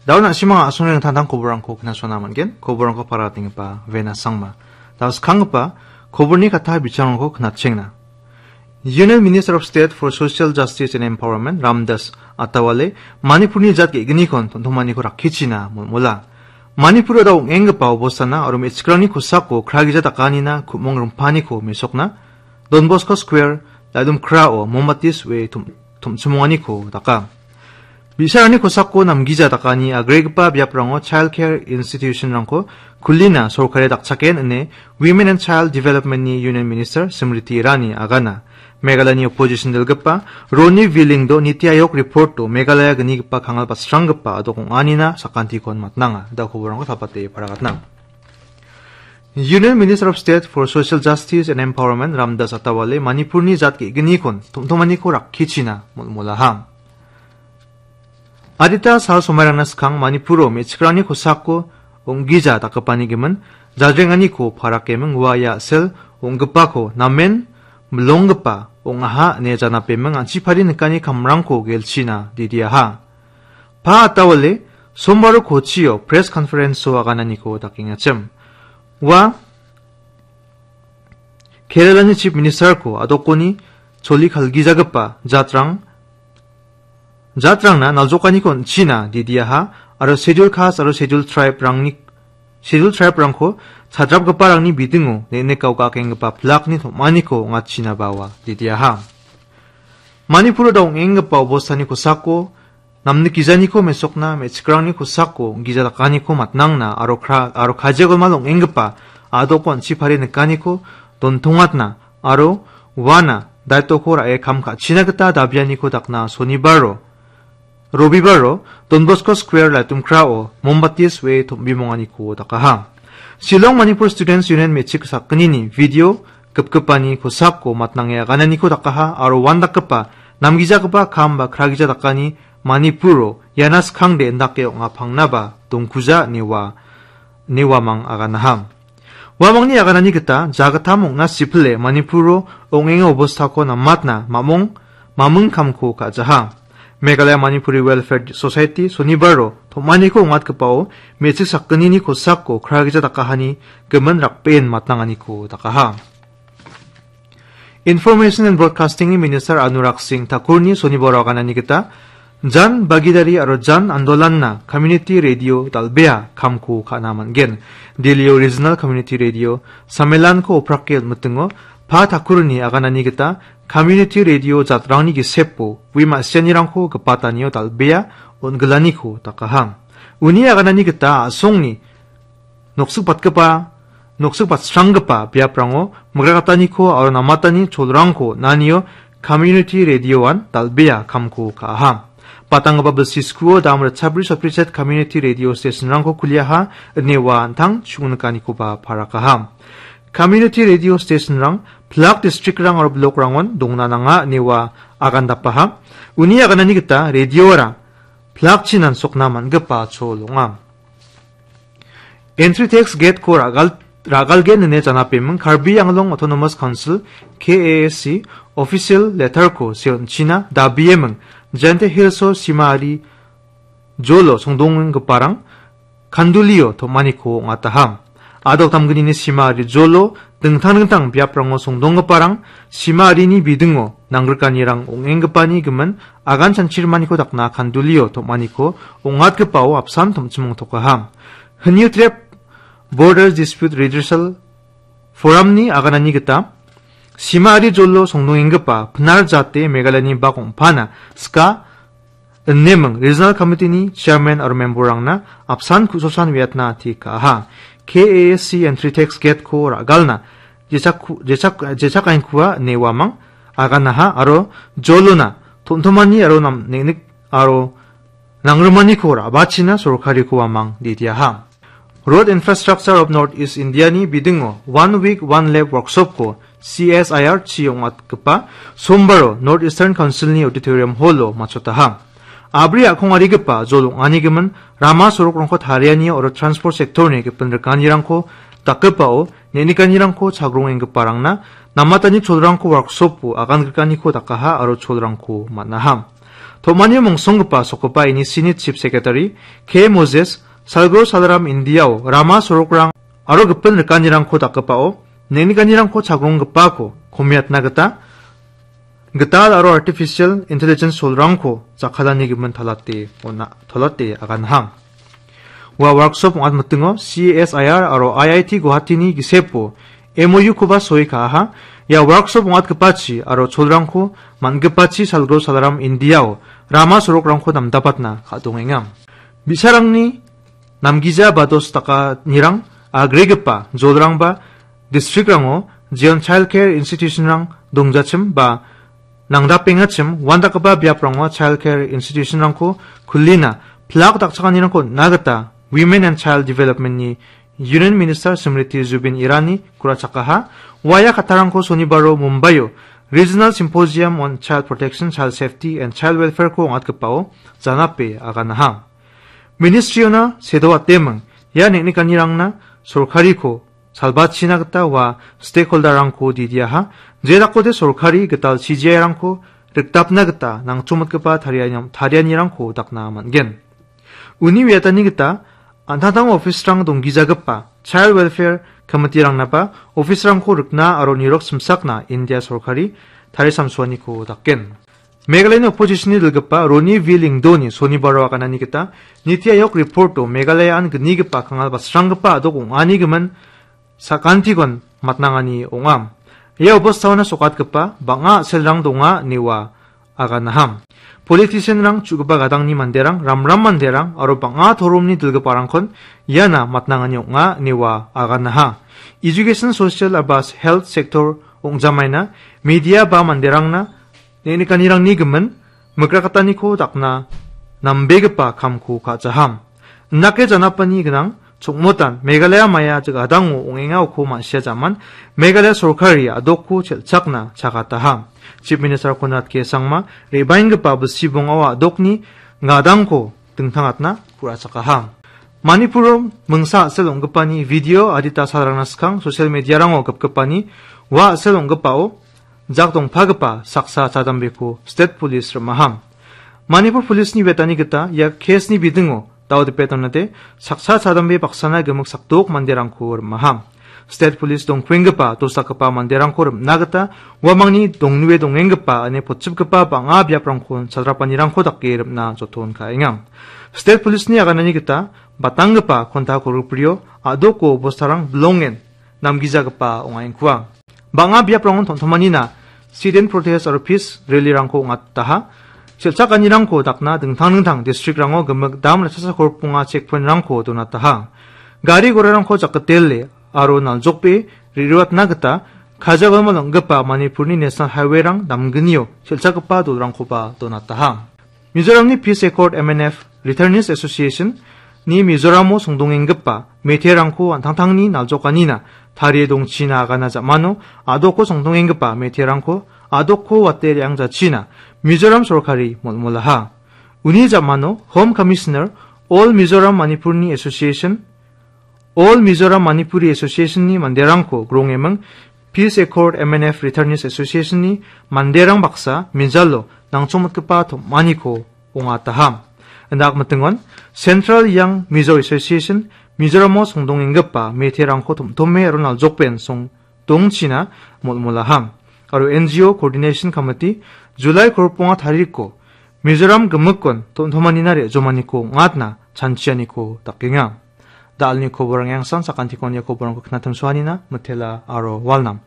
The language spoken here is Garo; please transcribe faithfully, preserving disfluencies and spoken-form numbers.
Dao na·simang a·songni ringtangtang koborrangko knasona man·gen, koborrangko paratenggipa Vena Sangma. Dao skanggipa koborni katta bichangrangko knatchengna. Union Minister of State for Social Justice and Empowerment Ramdas Atawale Manipurni jat ge·gnikon tontomaniko rakkichina molmola. Manipuro dao ong·enggipa obostana aro me·chikrangni kosako kragija dakanina ku·mong rimpaniko mesokna Don Bosco Square, Laidum Krao, Mombati so·e tom-, tomchimonganiko daka. Bi·sarangni kosako namgija dakani agregipa biaprango child care institution-rangko kulina sorkari dakchaken ine Women and Child Development-ni Union Minister Smriti Irani agana. Meghalayani opposition dilgipa Roni Vilingdo Niti Ayog report-o Meghalaya gnigipa kangal batsranggipa adok ong·anina sakantikon matnanga. Da koborangko tapate paragatna. Union Minister of State for Social Justice and Empowerment Ramdas Atawale Manipurni jat ge·gnikon tomtomaniko rakkichina molmolaha. Adita sal somairangna skang Manipuro me·chikrangni kosako ong·gija dakgipani gimin jadrenganiko parakeming ua ia sel ong·gipako namen milonggipa ong·aha ine janapeming an·chipari nikani kamrangko gelchina didiaha. Pa Atawale sombaro kochio press conference-o agananiko dakengachim. Ua Keralani Chief Minister-ko adokoni choli kalgijagipa jatrang, jatrangna naljokaniko on·china didiaha aro Schedule Caste aro Schedule Tribe-rangni, Schedule Tribe-rangko chadrapgiparangni bidingo neng·nikao gakenggipa plak-ni tom·aniko ong·achina bawa didiaha. Manipuro dao ong·enggipa obostani kosako namnikgijaniko mesokna me·chikrangni kosako gija dakaniko matnangna aro kra-, aro kajia golmal ong·enggipa adoko an·chipari nikaniko dontongatna aro uana daitoko ra·e kam ka·china gita dabianiko dakna sonibaro, robibaro Don Bosco Square Laitumkrao mombati so·e tom·bimonganiko dakaha. Shillong Manipur Students Union me·chik sakgnini video gipgipani kosako matnange agananiko dakaha aro uandakgipa namgijagipa kam ba kragija dakani Manipuro iana skangde indake ong·a pangnaba dongkuja ine ua, ine uamang aganaha. Uamangni aganani gita jagittam ong·na sipile Manipuro ong·enga obostako namatna mamong, maming kamko ka·jaha. Meghalaya Manipuri Welfare Society sonibaro tom·aniko ong·atgipao me·chik sakgnini kosako kragija dakahani gimin rakbeen matnanganiko dakaha. Information and Broadcasting-ni Minister Anurag Singh Thakurni sonibaro aganani gita Jan Bhagidari aro Jan Andolanna Community Radio dal·bea kamko ka·na man·gen. Delhi-o Regional Community Radio Sammelanko oprake on·mitingo Pa Thakurni aganani gita Community Radio jatrangni gisepo ui ma·sianirangko gipatanio dal·bea on·gilaniko dakaha. Uni aganani gita a·songni noksikbatgipa, noksikbatsranggipa biaprango migrakataniko aro namatani cholrangko nanio Community Radio-an dal·bea kamko ka·aha. Patanggipa bilsi skuo dam ritchabri sotbri set Community Radio Station-rangko kuliaha, ine ua an·tang chingnikanikoba parakaha. Community Radio Station-rang plak district-rang aro block-rangon dongna nanga, ine ua agandapaha. Uni aganani gita radio-ara plak-chi nansokna man·gipa chol ong·a. Entry tax gate-ko ra·gal-, ra·galgen ine janapeming Karbi Anglong Autonomous Council, K A A C, official letter-ko seon·china dabieming Jaintia Hills-o sima ari jolo songdongenggiparang kandulio tom·aniko ong·ataha. Adok damgnini sima ari jolo dingtang dingtang biaprango songdonggiparang sima arini bidingo nangrikanirang ong·enggipani gimin agan chanchirimaniko dakna kandulio tom·aniko ong·atgipao apsan tom·chimongtokaha. Hynniewtrep Borders Dispute Redressal Forum-ni aganani gita sima ari jolo songdongenggipa Pnar jate Meghalayani bak ong·pana ska ineming Regional Committee-ni Chairman aro member-rangna apsan ku·sosan uiatna ati ka·aha. K A A C Entry Tax Gate-ko ra·galna jechak-, jechak-, jechakaengkua ine uamang aganaha aro jolona tom·tomani aro nam-, neng·nik aro nangrimaniko ra·bachina sorkariko uamang didiaha. Road Infrastructure of North East India-ni bidingo One Week One Lap Workshop-ko C S I R chi ong·atgipa sombaro North Eastern Council-ni Auditorium Hall-o matchotaha. Abri a·kongarigipa jol ong·anigimin rama sorokrangko tariani aro transport sector-ni gipin rikanirangko dakgipao neng·nikanirangko chagrongenggiparangna namatani cholrangko workshop-o agangrikaniko dakaha aro cholrangko man·aha. Tom·anio mongsonggipa sokgipa N E C ni Chief Secretary K Moses, Salgro Salaram Indiao rama sorokrang aro gipin rikanirangko dakgipao, neng·nikanirangko chagronggrikgipako komiatna gita gital aro artificial intelligence tool-rangko jakkalani gimin talate ona-, talate aganham. Ua workshop ong·atmitingo C S I R aro I I T Guwahati-ni gisepo M O U-koba soi ka·aha. Ia workshop ong·atgipachi aro tool-rangko man·gipachi Salgro Salaram Indiao rama sorokrangko namdapatna ka·dongenga. Bi·sarangni namgija ba dos dakanirang agregipa jolrangba district-rango jeon child care institution-rang dongjachim ba nangdapengachim uandakgipa biaprango child care institution-rangko kulina plak dakchakanirangko on·na gita Women and Child Development-ni Union Minister Smriti Zubin Irani ku·rachakaha. Ua ia kattarangko sonibaro Mumbaio Regional Symposium on Child Protection, Child Safety and Child Welfare-ko ong·atgipao janape aganaha. Ministry-ona sedoateming ia neng·nikanirangna sorkariko salbachina gita ua stakeholder-rangko didiaha. Jedakode sorkari gital C G I-rangko rikdapna gita nangchomitgipa tarianiam-, tarianirangko dakna man·gen. Uni uiatani gita an·tangtang office-rang donggijagipa Child Welfare Committee-rangnaba office-rangko rikna aro nirok simsakna India sorkari tarisamsoaniko dakgen. Meghalayani opposition-ni dilgipa Roni V Lyngdoh-ni sonibaro aganani gita Niti Aayog report-o Meghalaya-an gnigipa kangal basranggipa a·dok ong·ani gimin sakantikon matnangani ong·a. Ia obostaona sokatgipa bang·a a·selrang donga ine ua aganaham. Politician-rang, chu·gipa gadangni manderang, ramram manderang aro bang·a toromni dilgiparangkon iana matnangani ong·a ine ua aganaha. Education, social aro health sector ong·jamaina media ba manderangna neng·nikanirangni gimin mikrakataniko dakna nambegipa kamko ka·jaham. Indake janapani gnang chongmotan Meghalaya maia jagadango ong·engako ma·sia jaman Meghalaya sorkari a·dokko chelchakna chagataha. Chief Minister Conrad K Sangma re·baenggipa bilsi bongao a·dokni gadangko dingtangatna ku·rachakaha. Manipuro mingsa a·sel ong·gipani video adita salrangna skang social media-rango gipgipani ua a·sel ong·gipao jak dongpagipa saksa chadambeko State Police rim·aha. Manipur Police-ni uiatani gita ia case-ni bidingo dao dipe donate saksa chadambe baksana gimik sakdok manderangko rim·aha. State Police dongkuenggipa dosakgipa manderangko rim·na gita uamangni dongnue dongenggipa ine potchipgipa bang·a biaprangkon chadrapanirangko dake rim·na joton ka·enga. State Police-ni aganani gita batanggipa konta koruprio a·doko bostarang bilongen namgijagipa ong·aengkua. Bang·a biaprangon tom·tomanina sit-in protest aro peace rally-rangko ong·ataha. Chelchakanirangko dakna dingtang dingtang district-rango gimik dam raksasa korponga checkpoint-rangko donataha. Gari gorarangko jakgitele aro naljokbe re·roatna gita Khajagalma ong·gipa Manipurni National Highway-rang damgnio chelchakgipa dolrangkoba donataha. Mizoramni Peace Accord M N F Returnees Association-ni Mizoramo songdongenggipa meteirangko an·tangtangni naljokanina tarie dongchina agana jamano a·doko songdongenggipa meteirangko a·dokko wate re·angjachina Mizoram sorkari molmolaha. Uni jamano Home Commissioner All Mizoram Manipurni Association All Mizoram Manipuri Association-ni manderangko grongeming Peace Accord M N F Returnees Association-ni manderang baksa mijalo nangchongmitgipa tom·aniko ong·ataham. Indak mitingon Central Young Mizo Association Mizoramo songdongenggipa meteirangko tom·tome aro naljokben song dongchina molmolaham. Aro N G O Coordination Committee July kolponga tariko Mizoram gimikkon tom·tomanina re·jomaniko ong·atna chanchianiko dakenga. Da·alni koborang yangsan sakantikon ia koborangko knatimsoanina mitela aro walnam.